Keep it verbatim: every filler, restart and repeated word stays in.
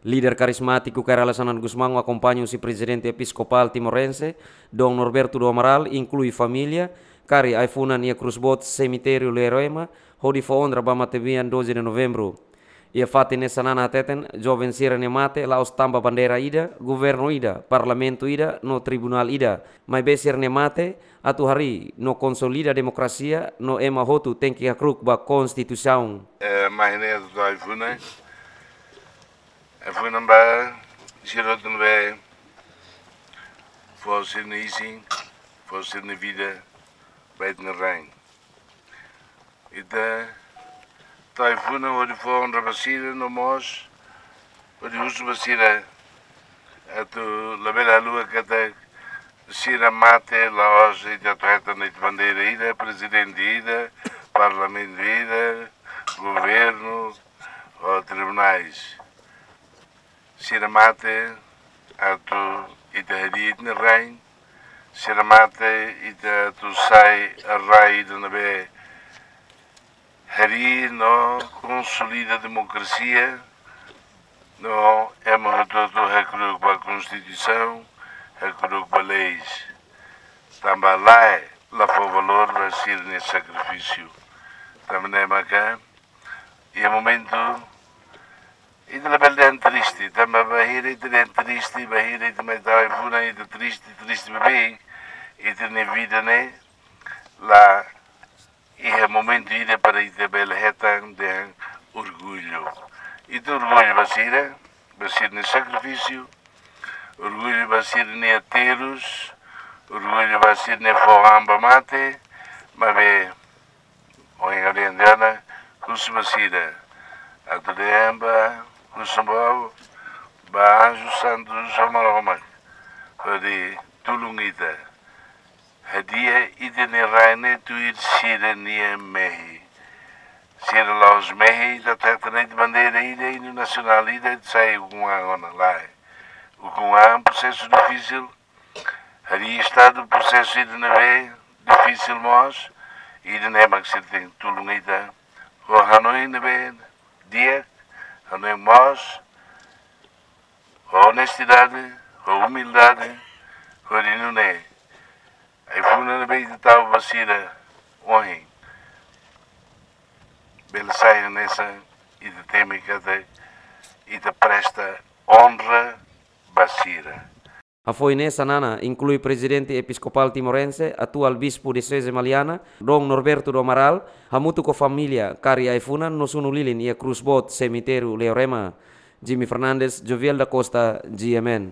Líder karizmátiku Kay Rala Xanana Gusmão akompaña husi Prezidente Episkopál Timorense, Dom Norberto do Amaral, inklui família, kari ai-funan iha krús boot semitériu Leroema, hodi fó onra ba matebian doze de Novembro. Iha fatin ne'e Xanana hateten, joven sira-nia mate la'ós tanba bandeira ida, governu ida, parlamentu ida, no tribunál ida, maibé sira-nia mate atu harii no konsolida demokrasia, no ema hotu tenke hakru'uk ba Konstituisaun. Eh, mai ne'e atu ai-funan, ai-funan ba sira hotu ne'ebé fó sira-nia isin, fó sira-nia vida ba ita-nia rain. Ita tau ai-funan hodi fó onra ba sira no mós hodi husu ba sira atu labele haluha katak sira mate la'ós ita atu hetan ita bandeira ida, prezidente ida, parlamentu ida, governu ou tribunais. Sira mate atu ita harii ita-nia rain, sira mate ita atu sai rai ida ne'ebé harii no konsolida demokrasia, no ema hotu-hotu hakru'uk ba Konstituisaun, hakru'uk ba leis. Tanba lae la fó valór ba sira-nia sakrifísiu. Tanba ne'e maka iha momentu ita labele dehan triste, tanba bainhira ita dehan triste, bainhira ita mai tau ai-funan ita triste, triste beibeik, ita-nia vida ne'e la iha momentu ida para ita bele hetan dehan orgullu. Ita orgullu ba sira, ba sira-nia sakrifísiu, orgullu ba sira-nia aterrus, orgullu ba sira-nia fó an ba mate, maibé ohin ha'u dehan tiha ona, husu ba sira atu dehan ba, husu ba, ba anju santu, husu ba Maromak hodi tulun ita. Hadi'a ita-nia rain ne'e tuir sira-nia mehi. Sira la'ós mehi ita atu hetan ita bandeira ida, inu nasionál ida, ita sai ukun an ona, lae. Ukun an prosesu difisil, harii Estadu prosesu ida ne'ebé difisil mós, ida-ne'e mak sira tenke tulun ita ho hanoin ne'ebé di'ak, hanoin moos, ho onestidade, ho umildade, hodi nune'e ai-funan ne'ebé ita tau ba sira ohin bele sai hanesan ita temi katak ita presta onra ba sira. Hafoin ne'e Xanana inklui Prezidente Episkopál Timorense, atuál Bispu Dioseze Maliana, Dom Norberto do Amaral, hamutuk ho família, kari ai-funan no sunu lilin iha krús boot semitériu Leorema. Jimmy Fernandes, Joviel da Costa, G M N.